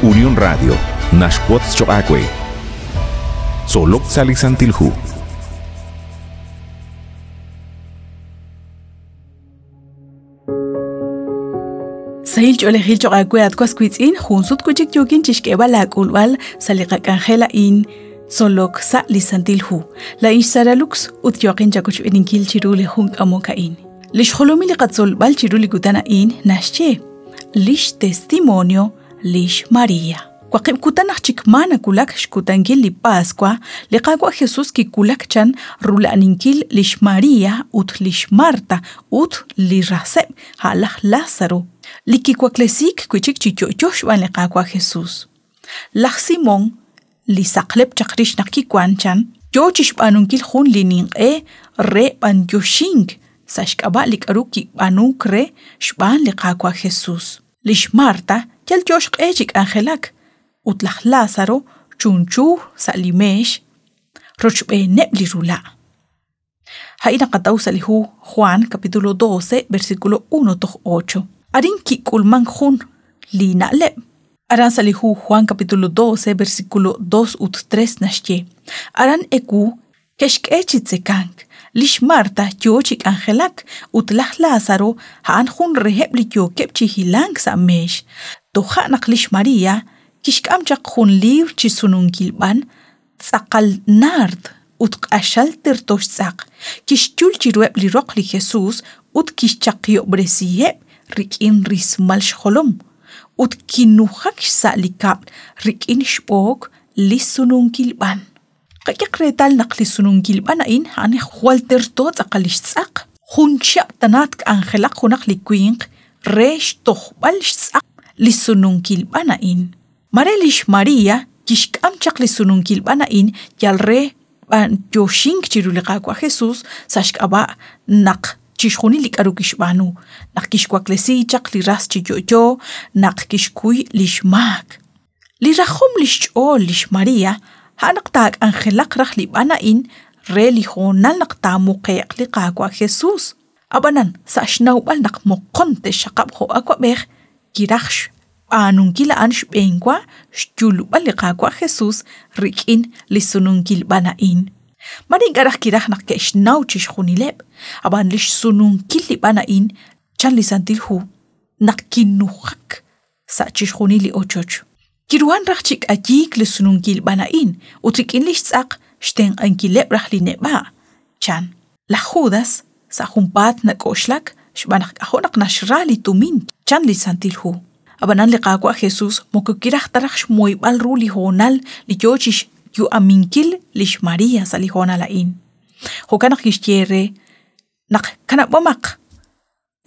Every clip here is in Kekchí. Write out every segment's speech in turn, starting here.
Unión Radio naxwotz choq' aawe. Tzolok sa' li Santil Hu. Sahil ch'oolejil choq' aawe at was wiitz'in, jun sut wi' chik yookin chixk'eeb'al aak'ulb'al sa' li qak'anjel a'in Tzolok sa' li Santil Hu. Laa'in xSara Lux ut yooqin chawochb'eeninkil chiru li jun k'amok a'in. Li xjolomil li qatzolb'al chiru li kutan a'in naxye lix testimonio lix Maria. Waqib' kutan aj chik ma nawulak xkutankil li Paswa, li Qaawa' Jesus kiwulak chan rula'aninkil lix Maria ut lix Marta ut li raseb', a' laj Lázaro, li kiwaklesiik wi' chik chi yo'yo xb'aan li Qaawa' Jesus. Laj Simón, li saqlep chaq rix naq kiwank chan, yo chi xb'aanunkil jun li ninq'e re b'anyoxink sa' xk'ab'a' li k'aru kib'aanuuk re xb'aan li Qaawa' Jesus. Lix Marta yal yo xq'e chi k'anjelak, ut laj Lázaro chunchu sa' li meex rochb'eeneb' li rula'. A'in naqataw sa' li hu Juan capítulo 12 versículo 1 toj 8. Arin kik'ulmank jun li na'leb'. Aran sa' li hu Juan capítulo 12 versículo 2 ut 3 naxye, Aran ewu Ke'xk'e chi tzekank. Li xMarta yoo chi k'anjelak ut laj Lazaro a'an jun reheb' li yookeb' chi hilank sa' meex. Toja' naq li xMaria kixk'am chaq jun liibr chi sununkil b'an tz'aqal naard ut q'axal terto xtz'aq, kixyul chiruheb' li roq li Jesus ut kixchaqihob'resiheb' rik'in rismal xjolom, ut kinujak xsa' li kab'l rik'in xb'ook li sununkil b'an. Qak'ehaq reetal naq li sununkil b'an a'in a'an jwal terto tz'aqal li xtz'aq. Jun chihab' tana tk'anjelaq junaq li winq re xtojb'al xtz'aq li sununkil b'an a'in. Mare li xMaria kixk'am chaq li sununkil b'an a'in yal re b'anyoxink chiru li Qaawa' Jesús sa' xk'ab'a' naq chixjunil li k'aru kixb'aanu, naq kixwaklesi chaq li ras chi yo'yo, naq kixkuy li xmaak. Li rajom li xch'ool li xMaria a'an naq taak'anjelaq raj li b'an a'in re li hoonal naq taamuqe'q li Qaawa' Jesus. Ab'anan, sa' xnawb'al naq moqon te'xxaqab' jo' awab'ej, kiraj xb'aanunkil a'an xb'eenwa xyulb'al li Qaawa' Jesus rik'in li sununkil b'an a'in. Mare ink'a' raj kiraj naq ke'xnaw chixjunileb', ab'an li xsununkil li b'an a'in, chan li Santil Hu, naq kinujak sa' chixjunil li ochoch. Kiruhan raj chi k'ayiik li sununkil b'an a'in ut rik'in li xtz'aq xtenq'ankileb' raj li neb'a', chan. Laj Judas sa' junpaat nak'oxlak xb'aan naq k'ajo' naq naxra li tumin, chan li Santil Hu. Ab'anan li Qaawa' Jesus moko kiraj ta raj xmoyb'al ru li hoonal li yo chi xyu'aminkil li xMaria sa' li hoonal a'in. Jo'kan naq kixye re naq kanab'omaq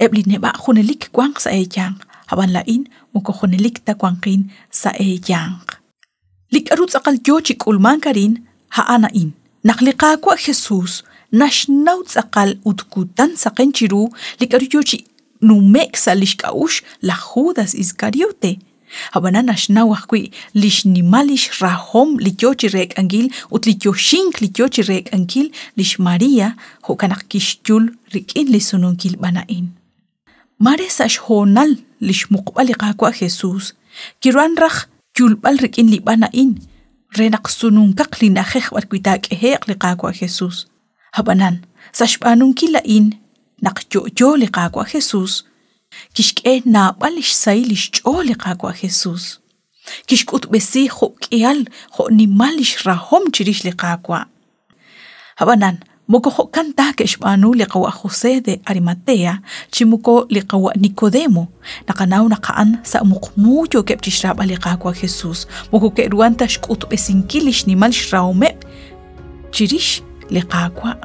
Eb' li neb'a' junelik wanq sa' eeyanq, ab'an laa'in moko junelik ta wanqin sa' eeyanq. Li k'aru tz'aqal yo chi k'ulmank arin, a'an a'in, naq li Qaawa' Jesus naxnaw tz'aqal ut kutan saqen chiru li k'aru yo chi nume'k sa' li xk'a'uxl laj Judas Iskariote. Ab'anan naxnaw ajwi' li xnimal li xrahom li yo chi reek'ankil ut li yoxink li yo chi reek'ankil lix María, jo'kan naq kixyul rik'in li sununkil b'an a'in. Mare sa' xhoonal li xmuqb'al li Qaawa' Jesús, kiruhan raj yulb'al rik'in li b'an a'in re naq sununkaq li na'ajej b'arwi' taak'ehe'q li Qaawa' Jesús. Ab'anan, sa' xb'aanunkil a'in naq yo'yo li Qaawa' Jesús, Kixk'e naab'al li xsahil li xch'ool li Qaawa' Jesús. Kixk'utb'esi jo' k'ihal jo' nimal li xrahom chirix li Qaawa'. Ab'anan, moko jo'kan ta ke'xb'aanu li qawa' José de Arimatea chi moko li qawa' Nicodemo. Naqanaw naq a'an sa' muqmu yookeb' chi xraab'al li Qaawa' Jesús, moko ke'ruhan ta xk'utb'esinkil li xnimal xrahomeb' chirix li Qaawa'.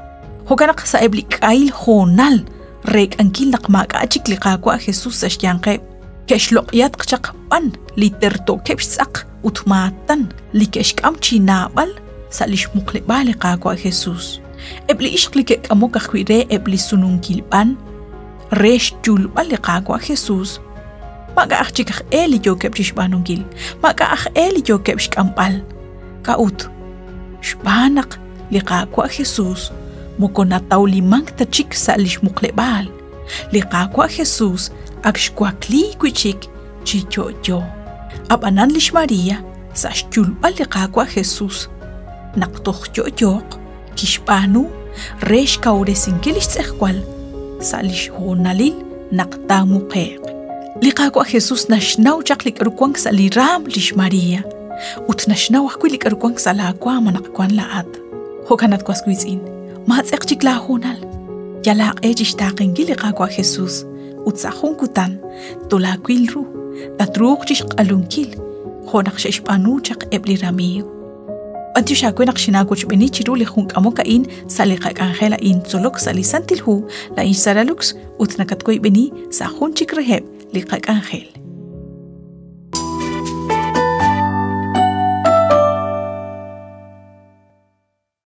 Jo'kan naq sa'eb' li k'ahil hoonal reek'ankil naq maak'a' chik li Qaawa' Jesus sa' xyanqeb', ke'xloq'yatq chaq b'an li terto'keb' xtz'aq ut maatan li ke'xk'am chi naab'al sa' li xmuqleb'aal li Qaawa' Jesus. Eb' li ixq li ke'k'amok ajwi' re eb' li sununkil b'an re xyulb'al li Qaawa' Jesus, maak'a' aj chik aj e li yookeb' chi xb'aanunkil, maak'a' aj e li yookeb' xk'amb'al. K'a'ut? Xb'aan naq li Qaawa' Jesús moko natawlimank ta chik sa' li xmuqleb'aal. Li Qaawa' Jesús ak xwakliik wi' chik chi yo'yo. Ab'anan lix María, sa' xyulb'al li Qaawa' Jesus naq toj yo'yooq, kixb'aanu re xkawresinkil li xtz'ejwal sa' li xhoonalil naq taamuqe'q. Li Qaawa' Jesus naxnaw chaq li k'aru wank sa' li raanm lix María ut naxnaw ajwi' li k'aru wank sa' laawaanm anaqwan laa'at. Jo'kan at was wiitz'in, maatz'eq chik laahoonal. Yal aaq'e chi xtaaqenkil li Qaawa' Jesus ut sa' jun kutan tolaawil ru, tatruuq chi xq'alunkil jo' naq xe'xb'aanu chaq eb' li ramiiw. B'antiox aawe naq xinaawochb'eeni chiru li jun k'amok a'in sa' li qak'anjel a'in Tzolok sa' li Santil Hu, laa'in xSara Lux ut nakatwoyb'eni sa' jun chik reheb' li qak'anjel.